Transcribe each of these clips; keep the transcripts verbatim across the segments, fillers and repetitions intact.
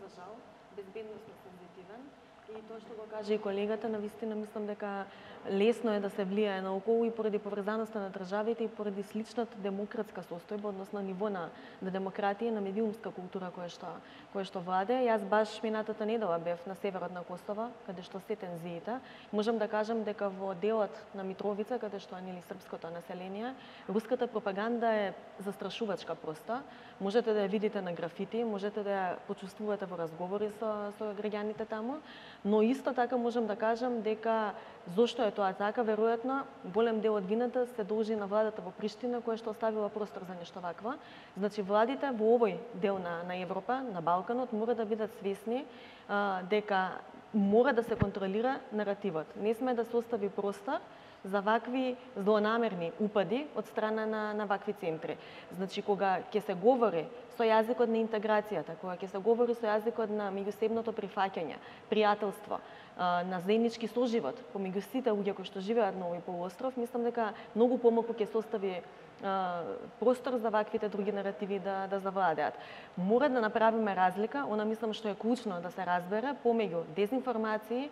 за жал, безбедносно сензитивен. И тоа што го кажа и колегата, навистина мислам дека лесно е да се влијае наоколу и поради поврзаноста на државите и поради сличната демократска состојба, односно ниво на, на демократија, на медиумска култура која што која што владе. Јас баш минатата недела бев на северот на Косово, каде што се тензиите. Можам да кажам дека во делот на Митровица, каде што е нели српското население, руската пропаганда е застрашувачка проста. Можете да ја видите на графити, можете да ја почувствувате во разговори со со граѓаните таму. Но исто така можам да кажам дека зошто е тоа така, веројатно голем дел од вината се должи на владата во Приштина, која што оставила простор за нешто вакво. Значи владите во овој дел на, на Европа, на Балканот, мора да бидат свесни а, дека мора да се контролира наративот. Не сме да се остави простор за вакви злонамерни упади од страна на, на вакви центри. Значи, кога ќе се говори со јазикот на интеграцијата, кога ќе се говори со јазикот на меѓусебното прифаќање, пријателство, на заеднички соживот помеѓу сите луѓе кои што живеат на овој полуостров, мислам дека многу помалку ќе се остави простор за ваквите други наративи да, да завладеат. Мора да направиме разлика, она мислам што е клучно да се разбере, помеѓу дезинформации,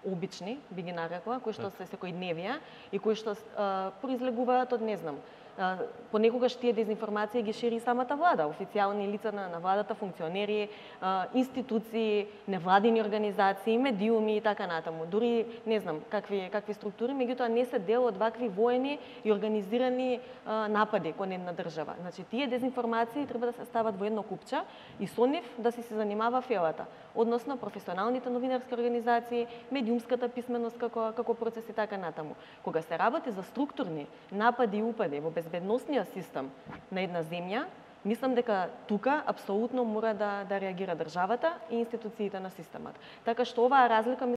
обични, би ги нарекла, кои што се секојдневија и кои што а, произлегуваат од, не знам, а, понекогаш тие дезинформации ги шири самата влада, официјални лица на, на владата, функционери, а, институции, невладини организации, медиуми и така натаму. Дури не знам какви какви структури, меѓутоа не се дел од вакви воени и организирани а, напади кон една држава. Значи тие дезинформации треба да се стават во едно купче и со нив да се се занимава фелата, односно професионалните новинарски организации, медиумската писменост како како процес и така натаму. Кога се работи за структурни напади и упади во безбедносниот систем на една земја, мислам дека тука апсолутно мора да да реагира државата и институциите на системот. Така што оваа разлика